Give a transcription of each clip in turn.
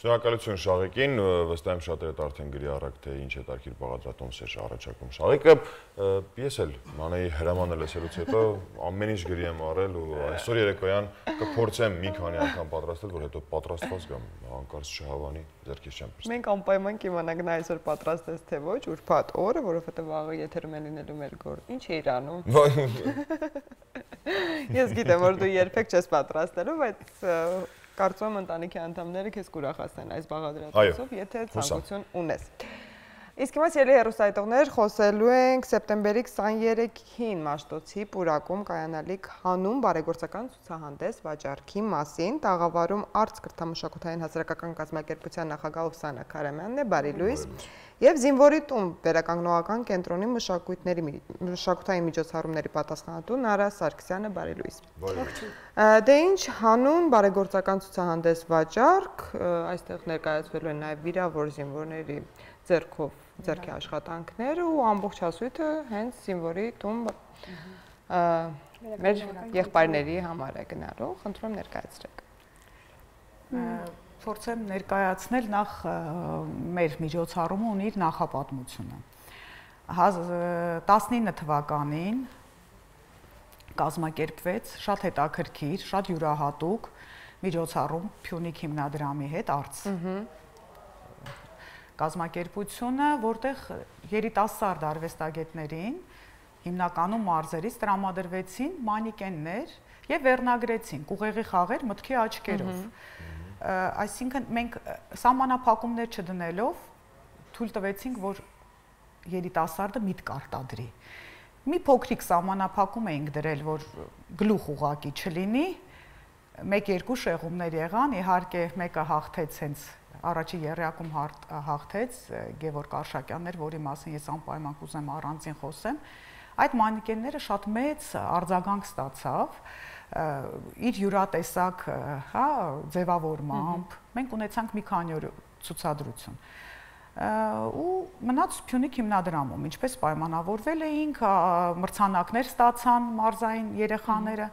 Շնորհակալություն Շաղիկին, վստահ եմ շատերը արդեն գրի առակ թե ինչ հետաքրքիր բաղադրատոմս է առաջարկում Շաղիկը։ Ես էլ Մանեի հրամանը լսելուց հետո ամեն ինչ գրի եմ առել ու այսօր երեկոյան կփորձեմ մի քանի անգամ պատրաստել, որ հետո պատրաստված գամ, հանկարծ չհավանի, ձեռքից չեմ պստի։ Մենք անպայման կիմանանք նա այսօր պատրաստես թե ոչ, ուրբաթ օրը, որովհետև վաղը եթերում է լինելու մեր գործ։ Ինչ էիր անում։ Ես գիտեմ, որ դու երբեք չես պատրաստելու, բայց կարծում եմ ընտանիքի անդամները քեզ կուրախացնեն այս բաղադրատոմսով, եթե ցանկություն ունես։ Իսկ հիմա սիրելի հեռուստայտողներ, խոսելու ենք սեպտեմբերի 23-ին Մաշտոցի պուրակում կայանալիք հանուն բարեգործական ցուցահանդես վաճառքի մասին, տաղավարում Արց կրթամշակութային հասարակական կազմակերպության նախագահ Ովսանա Քարամյանն է, բարի լույս, եւ Զինվորի տուն վերականգնողական կենտրոնի մշակութային միջոցառումների պատասխանատու Նարա Սարգսյանը, բարի լույս։ Դե ինչ հանուն բարեգործական ցուցահանդես վաճառք, այստեղ ներկայացվելու են նաեւ վիրավոր զինվորների ձեռքի աշխատանքները ու ամբողջ հասույթը հենց Զինվորի տուն մեր եղբայրների համար է գնալու, խնդրում ներկայացրեք։ Փորձեմ ներկայացնել նախ մեր միջոցառումը ունի իր նախապատմությունը։ 19 թվականին կազմակերպվեց շատ հետաքրքիր, շատ յուրահատուկ միջոցառում Փյունիկ հիմնադրամի հետ Արց։ Կազմակերպությունը, որտեղ երիտասարդ արվեստագետներին հիմնականում մարզերից տրամադրվեցին մանիկեններ եւ վերնագրեցին ուղեղի խաղեր մտքի աչքերով։ Այսինքն մենք սահմանափակումներ չդնելով թույլ տվեցինք, որ երիտասարդը միտք արտադրի։ Մի փոքրիկ սահմանափակում էինք դրել, որ գլուխ ուղակի չլինի, 1-2 շեղումներ եղան, իհարկե մեկը հաղթեց հենց առաջի եռյակում հաղթեց Գևորգ Արշակյաններ, որի մասին ես անպայման կուզեմ առանձին խոսեմ, այդ մանիկենները շատ մեծ արձագանք ստացավ իր յուրատեսակ ձևավորմամբ, մենք ունեցանք մի քանի օր ցուցադրություն ու մնաց Փյունիկ հիմնադրամում, ինչպես պայմանավորվել էինք, մրցանակներ ստացան մարզային երեխաները։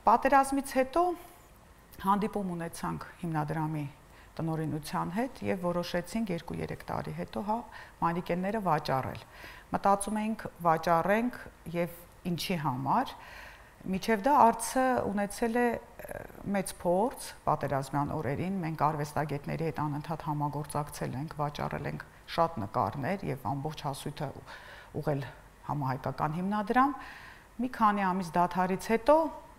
Պատերազմից հետո հանդիպում ունեցանք հիմնադրամի տնօրինության հետ եւ որոշեցինք 2-3 տարի հետո մանիկենները վաճառել։ Մտածում էինք վաճառենք եւ ինչի համար, միջև դա Արցը ունեցել է մեծ փորձ պատերազմյան օրերին, մենք արվեստագետների հետ անընդհատ համագործակցել ենք, վաճառել ենք շատ նկարներ եւ ամբողջ հասույթը ուղղել համահայկական հիմնադրամ։ Մի քանի ամիս դադարից հետո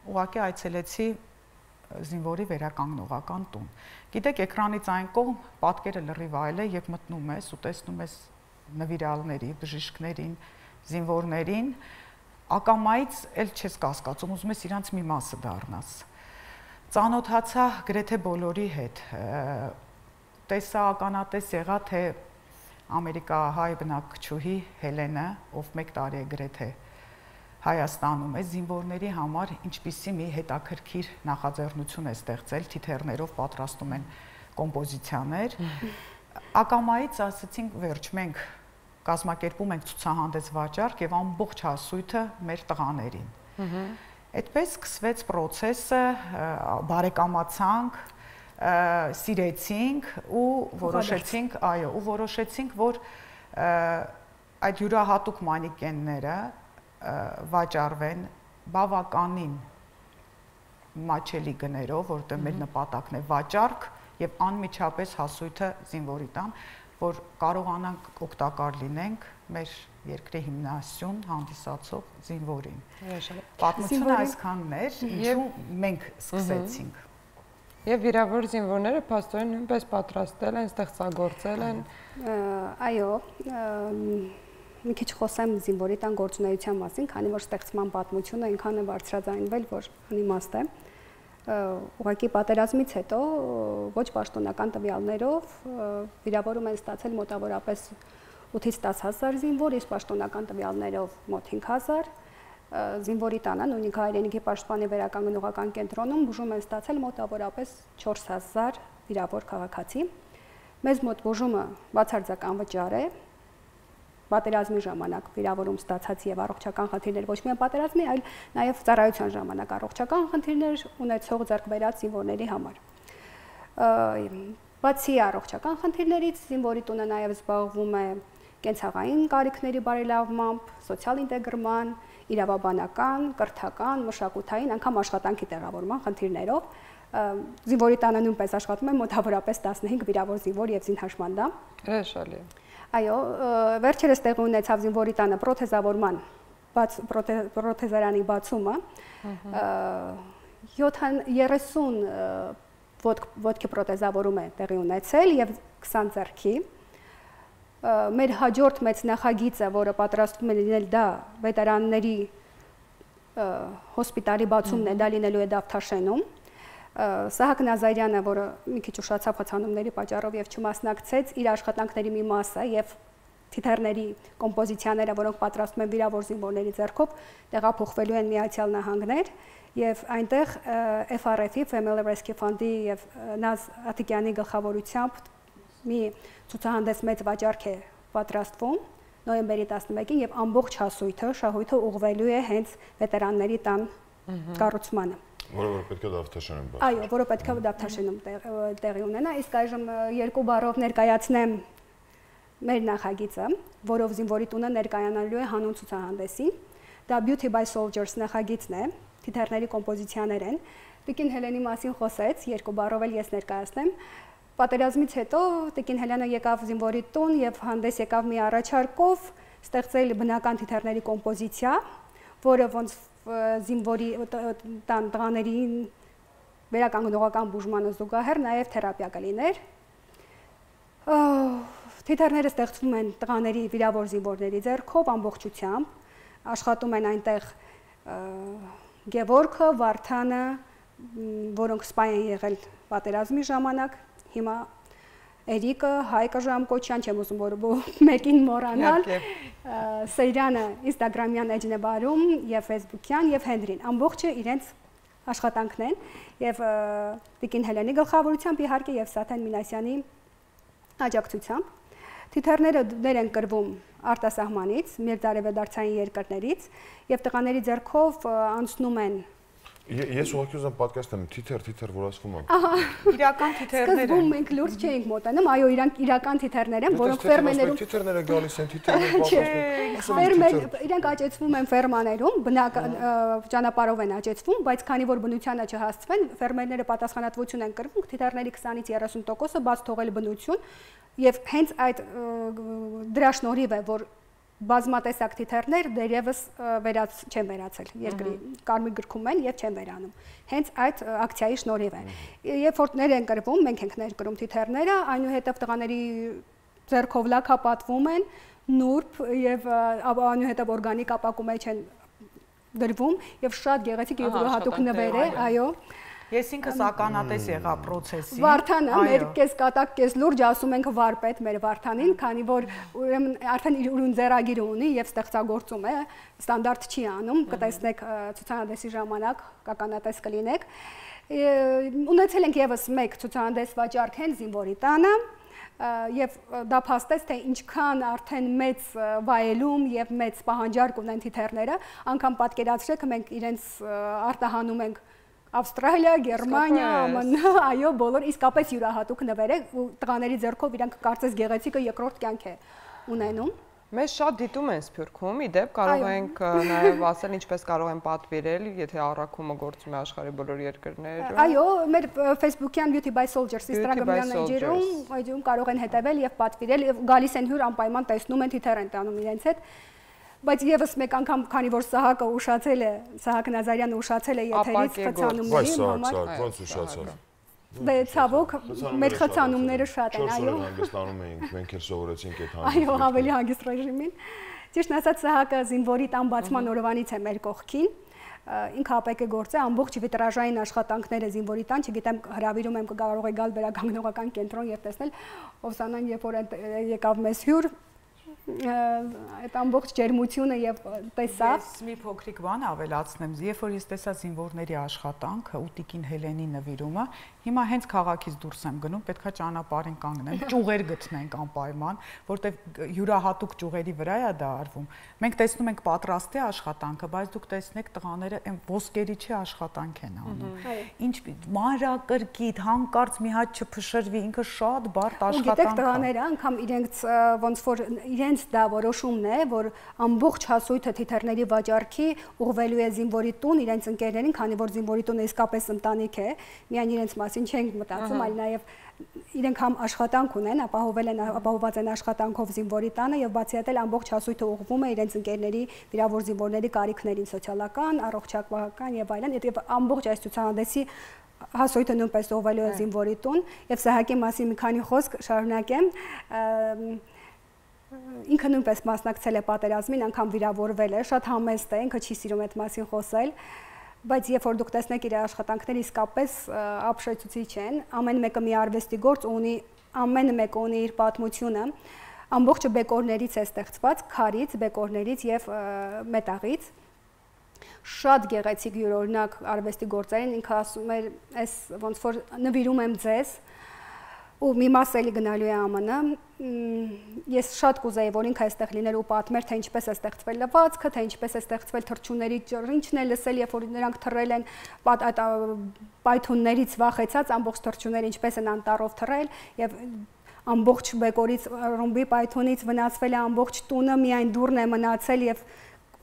ուղղակի այցելեցի Զինվորի վերականգնողական տուն։ Գիտեք, էկրանից այն կողմ պատկերը լրիվ այլ է եւ մտնում ես ու տեսնում ես նվիրալների, բժիշկներին, զինվորներին, ակամայից էլ չես կասկածում, ուզում ես իրանց մի մասը դառնաս։ Ծանոթացա գրեթե բոլորի հետ։ Տեսա ականատես եղա, թե ամերիկահայ բնակչուհի Հելենը, ով 1 տարի է գրեթե Հայաստանում է, զինվորների համար ինչպիսի մի հետաքրքիր նախաձեռնություն է ստեղծել, թիթեռներով պատրաստում են կոմպոզիցիաներ։ Ակամայից ասացինք, վերջ, մենք կազմակերպում ենք ցուցահանդես վաճառք եւ ամբողջ հասույթը մեր տղաներին։ Այդպես սկսվեց process-ը, բարեկամացանք, սիրեցինք ու որոշեցինք, որ այդ յուրահատուկ մանիկենները վաճառվեն բավականին մաչելի գներով, որտեղ մեր նպատակն է վաճառք եւ անմիջապես հասույթը զինվորի տան, որ կարողանանք օգտակար լինենք մեր երկրի հիմնասյուն հանդիսացող զինվորին։ Պատմությունը այսքանն էր, ինչու մենք սկսեցինք։ Եվ վիրավոր զինվորները փաստորեն նույնպես պատրաստել են, ստեղծագործել են։ Այո, մի քիչ խոսեմ զինվորի տան գործունեության մասին, քանի որ ստեղծման պատմությունը այնքան է բարձրաձայնվել, որ անիմաստ է։ Ուղղակի պատերազմից հետո ոչ պաշտոնական տվյալներով վիրավորում են ստացել մոտավորապես 8-ից 10,000 զինվոր, իսկ պաշտոնական տվյալներով մոտ 5,000։ Զինվորի տանը, նույնիսկ հայրենիքի պաշտպանի վերականգնողական կենտրոնում բուժում են ստացել մոտավորապես 4,000 վիրավոր քաղաքացի։ Մեզ մոտ բուժումը բացարձակ անվճար է։ Պատերազմի ժամանակ վիրավորում ստացած եւ առողջական խնդիրներ ոչ միայն պատերազմի, այլ նաեւ ծառայության ժամանակ առողջական խնդիրներ ունեցող ձեռք բերած զինվորների համար։ Բացի առողջական խնդիրներից, զինվորի տունը նաև զբաղվում է կենցաղային կարիքների բարելավմամբ, սոցիալ ինտեգրման, իրավաբանական, կրթական, մշակութային, անգամ աշխատանքի տեղավորման խնդիրներով։ Զինվորի տանը նույնպես աշխատում է մոտավորապես 15 վիրավոր զինվոր եւ զինհաշմանդամ։ Հրաշալի։ Այո, վերջերս տեղի ունեցավ զինվորի տանը պրոթեզավորման պրոթեզարանի բացումը։ 30 ոտքի պրոթեզավորում է տեղի ունեցել եւ 20 ձեռքի։ Մեր հաջորդ մեծ նախագիծը, որը պատրաստվում է լինել, դա վետերանների հոսպիտալի բացումն է, դա լինելու է Դավթաշենում։ Սահակ Նազարյանը, որը մի քիչ ուշացավ խցանումների պատճառով եւ չմասնակցեց, իր աշխատանքների մի մասը եւ թիթեռների կոմպոզիցիաները, որոնք պատրաստում են վիրավոր զինվորների ձեռքով, տեղափոխվելու են Միացյալ Նահանգներ եւ այնտեղ FRF-ի Family Rescue Fund-ի եւ Նազ Աթիկյանի գլխավորությամբ մի ցուցահանդես մեծ վաճառք է պատրաստվում նոյեմբերի 11-ին եւ ամբողջ շահույթը ուղղվելու է հենց վետերանների տան կառուցմանը։ Որը պետք է Դավթաշենում բացվի։ Այո, որը պետք է Դավթաշենում տեղի ունենա, իսկ այժմ երկու բառով ներկայացնեմ մեր նախագիծը, որով զինվորի տունը ներկայանալու է հանուն ցուցահանդեսին։ Դա Beauty by Soldiers նախագիծն է, թիթեռների կոմպոզիցիաներ են։ Տիկին Հելենի մասին խոսեց, երկու բառով էլ ես ներկայացնեմ։ Պատերազմից հետո Տիկին Հելենը եկավ զինվորի տուն եւ հանդես եկավ մի առաջարկով ստեղծել բնական թիթեռների կոմպոզիցիա, որը ոնց զինվորի տղաներին վերականգնողական բուժմանը զուգահեռ նաև թերապիա կլիներ։ Թիթեռները ստեղծվում են տղաների վիրավոր զինվորների ձեռքով ամբողջությամբ, աշխատում են այնտեղ Գևորգը, Վարդանը, որոնք սպայ են եղել պատերազմի ժամանակ, հիմա Էրիկը, Հայկը Ժամկոչյան, չեմ ուզում որ մեկին մոռանալ, Սեյրանը Instagram-յան էջն է բարում եւ Facebook-յան եւ Հենրին, ամբողջը իրենց աշխատանքն են եւ Տիկին Հելենի գլխավորությամբ իհարկե եւ Սաթեն Մինասյանի աջակցությամբ։ Թիթեռները դեր են կրվում արտասահմանից, մերձարևադարձային երկրներից եւ տղաների ձեռքով անցնում են։ Ես ուղղակի ուզում պատկերացնեմ թիթեռ, որ ասվում է։ Իրական թիթեռներ են։ Սկզբում մենք լուրջ չէինք մոտենում, այո, իրանք իրական թիթեռներ են, որոնք ֆերմերներում թիթեռները գալիս են, թիթեռները իրենք աճեցվում են ֆերմաներում, բնական ճանապարհով են աճեցվում, բայց քանի որ բնությանը չհասցվեն, ֆերմերները պատասխանատվություն են կրվում թիթեռների 20-ից 30%-ը բաց թողել բնություն, եւ հենց այդ դրա շնորհիվ է, որ բազմատեսակ թիթեռներ դերևս չեն վերացել երկրի կարմիր գրքում են եւ չեն վերանում հենց այդ ակցիայի շնորհիվ է երբ որ ներ են կրվում մենք ենք ներկրում թիթեռները այնուհետև տղաների ձեռքով լաքապատվում են նուրբ եւ այնուհետև օրգանիկ ապակու մեջ են դրվում եւ շատ գեղեցիկ եւ ուրախատուկ նվեր է այո Ես ինքս ականատես եղա process-ին։ Վարդանը մեր կես կատակ կես լուրջ ասում ենք վարպետ մեր Վարդանին, քանի որ ուրեմն արդեն իր ուրույն ձեռագիր ունի եւ ստեղծագործում է, ստանդարտ չի անում, կտեսնեք ցուցահանդեսի ժամանակ ականատես կլինեք։ Ունեցել ենք եւս մեկ ցուցահանդես վաճառք հենց զինվորի տանը եւ դա փաստեց թե ինչքան արդեն մեծ վայելում եւ մեծ պահանջարկ ունեն թիթեռները, անգամ պատկերացրեք մենք իրենց արտահանում ենք Ավստրալիա, Գերմանիա, ԱՄՆ, այո, բոլոր իսկապես յուրահատուկ նվեր է ու տղաների ձեռքով իրանք կարծես գեղեցիկը երկրորդ կյանք է ունենում։ Մեզ շատ դիտում են Սփյուռքում, իդեպ կարող ենք նաև ասել ինչպես կարող են պատվիրել, եթե առաքումը գործում է աշխարհի բոլոր երկրներում։ Այո, մեր Facebook-յան Beauty by Soldiers Instagram-յան էջերում կարող են հետևել եւ պատվիրել եւ գալիս են հյուր անպայման տեսնում են թիթեռ են տանում իրենց հետ։ Բայց եւս մեկ անգամ, քանի որ Սահակը ուշացել է, Սահակ Նազարյանը ուշացել է եթերից խցանումների համար։ Ոնց ուշացավ։ Դե ցավոք, մեր խցանումները շատ են, այո։ 4 օր հանգստանում էինք, մենք էլ սովորեցինք այդ հանգստը։ Այո, ավելի հանգիստ ռեժիմին։ Ճիշտ ասած, Սահակը զինվորի տան բացման օրվանից է մեր կողքին։ Ինքը ապեկ է գործը, ամբողջ վիտրաժային աշխատանքները զինվորի տան, չգիտեմ, հրավիրում եմ կարող է գալ վերականգնողական կենտրոն եւ տեսնել Օվսանան, երբ որ եկավ մեզ հյուր այդ ամբողջ ջերմությունը եւ տեսա։ Ես մի փոքրիկ բան ավելացնեմ, երբ որ ես տեսա զինվորների աշխատանքը ու Տիկին Հելենի նվիրումը, Հիմա հենց քաղաքից դուրս եմ գնում, պետքա ճանապարհին կանգնեմ, ճյուղեր գտնենք անպայման, որտեղ յուրահատուկ ճյուղերի վրա է դա արվում։ Մենք տեսնում ենք պատրաստի աշխատանքը, բայց դուք տեսնեք տղաները այն ոսկերի չի աշխատանք են անում։ Ինչ մանրակրկիտ, հանկարծ մի հատ չփշրվի, ինքը շատ բարդ աշխատանք է։ Գիտեք, տղաները անգամ իրենց ոնց որ իրենց դա որոշումն է, որ ամբողջ հասույթը թիթեռների վաճառքի ուղղվելու է զինվորի տուն իրենց ընկերներին, քանի որ զինվորի տունը իսկապես ընտանիք է, միայն իրենց մասին չենք մտածում, այլ նաև իրենք համ աշխատանք ունեն, ապահովված են աշխատանքով զինվորի տանը եւ բացի այդ էլ ամբողջ հասույթը ուղղվում է իրենց ընկերների, վիրավոր զինվորների կարիքներին, սոցիալական, առողջապահական եւ այլն, եւ ամբողջ այս ցուցահանդեսի հասույթը նույնպես ուղղվելու է զինվորի տուն եւ Սահակի մասին մի քանի խոսք շարունակեմ։ Ինքը նույնպես մասնակցել է պատերազմին, անգամ վիրավորվել է, շատ համեստ է, ինքը չի սիրում այդ մասին խոսել, բայց երբ որ դուք տեսնեք իր աշխատանքները իսկապես ապշեցուցիչ են, ամեն մեկը մի արվեստի գործ ունի, ամեն մեկը ունի իր պատմությունը, ամբողջը բեկորներից է ստեղծված, քարից, բեկորներից եւ մետաղից, շատ գեղեցիկ յուրօրինակ արվեստի գործեր են, ինքը ասում էր, այս ոնց որ նվիրում եմ ձեզ, ու մի մաս էլի գնալու է ԱՄՆ, ես շատ կուզեի, որ ինքը այստեղ լիներ ու պատմեր, թե ինչպես է ստեղծվել լվացքը, թե ինչպես է ստեղծվել թռչունների ջրինչն է լսել, երբ որ նրանք թռել են պայթուններից վախեցած, ամբողջ թռչունները ինչպես են անտառով թռել եւ ամբողջ բեկորից ռումբի պայթունից վնասվել է ամբողջ տունը, միայն դուռն է մնացել եւ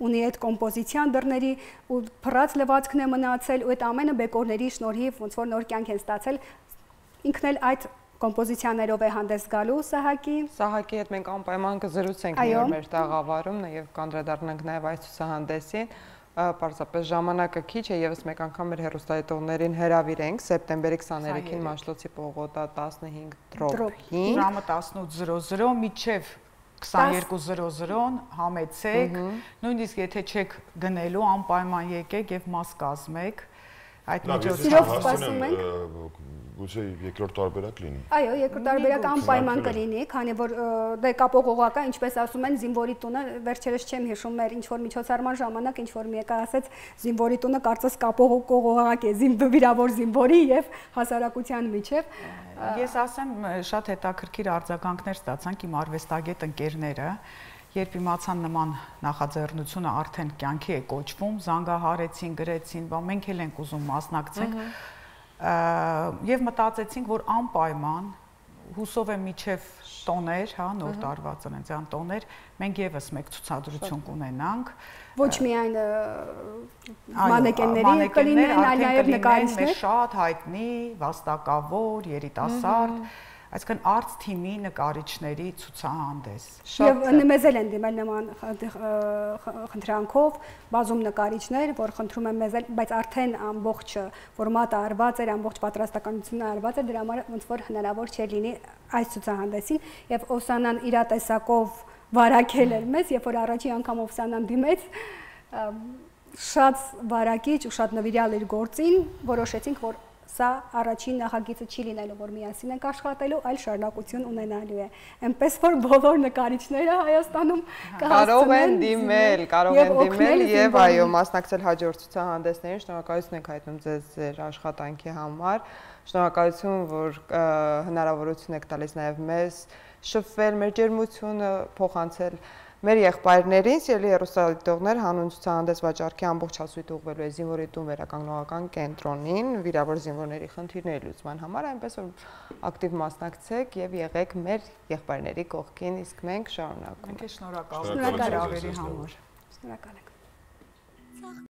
ունի այդ կոմպոզիցիան դռների ու փռած լվացքն է մնացել ու այդ ամենը բեկորների շնորհիվ ոնց որ նոր կյանք են ստացել, ինքն էլ այդ կոմպոզիցիաներով է հանդես գալու Սահակի հետ մենք անպայման կզրուցենք մեր տաղավարում եւ կանդրադառնանք նաեւ այս ցուցահանդեսին, պարզապես ժամանակը քիչ է, եւս մեկ անգամ մեր հեռուստադիտողներին հրավիրենք սեպտեմբերի 23-ին Մաշտոցի պողոտա 15/5 ժամը 18:00 մինչեւ 22:00 համեցեք, նույնիսկ եթե չեք գնելու, անպայման եկեք եւ մաս կազմեք այդ միջոցով Գուցե երկրորդ տարբերակ լինի։ Այո, երկրորդ տարբերակ անպայման կլինի, քանի որ դե կապողողակա, ինչպես ասում են, զինվորի տունը, վերջերս չեմ հիշում, մեր ինչ որ միջոցառման ժամանակ ինչ որ մի եկա ասեց, զինվորի տունը կարծես կապողողակ է, վիրավոր զինվորի եւ հասարակության միջև։ Ես ասեմ, շատ հետաքրքիր արձագանքներ ստացանք իմ արվեստագետ ընկերները, երբ իմացան նման նախաձեռնությունը արդեն կյանքի է կոչվում, զանգահարեցին, գրեցին, մենք էլ ենք ուզում մասնակցենք եւ մտածեցինք, որ անպայման հուսով եմ միջև տոներ, հա, նոր տարվա ծննդյան տոներ, մենք եւս մեկ ցուցադրություն կունենանք։ Ոչ միայն մանեկենների կլինեն, այլ նաեւ նկարիչներ, շատ հայտնի, վաստակավոր, երիտասարդ, այսինքն արտ թիմի նկարիչների ցուցահանդես։ Եվ մեզ էլ են դիմել նման խնդրանքով բազում նկարիչներ, որ խնդրում են մեզ էլ, բայց արդեն ամբողջ ֆորմատը արված էր, ամբողջ պատրաստականությունը արված էր, դրա համար ոնց որ հնարավոր չէ լինի այս ցուցահանդեսին եւ Օվսանան իր տեսակով վարակել էր մեզ, երբ որ առաջին անգամ Օվսանան դիմեց, շատ վարակիչ ու շատ նվիրյալ իր գործին, որոշեցինք, որ սա առաջին նախագիծը չի լինելու, որ միասին ենք աշխատելու, այլ շարունակություն ունենալու է։ Այնպես որ բոլոր նկարիչները Հայաստանում կարող են դիմել եւ այո, մասնակցել հաջորդ ցուցահանդեսներին, շնորհակալություն ենք հայտնում ձեզ ձեր աշխատանքի համար, շնորհակալություն, որ հնարավորություն եք տալիս նաեւ մեզ շփվել, մեր ջերմությունը փոխանցել մեր եղբայրներին, սիրելի հեռուստադիտողներ, հանուն ցուցահանդես վաճառքի ամբողջ հասույթը ուղղվելու է զինվորի տուն վերականգնողական կենտրոնին, վիրավոր զինվորների խնդիրների լուծման համար, այնպես որ ակտիվ մասնակցեք եւ եղեք մեր եղբայրների կողքին, իսկ մենք շարունակում ենք։ Մենք շնորհակալ ենք հրավերի համար։ Շնորհակալ ենք։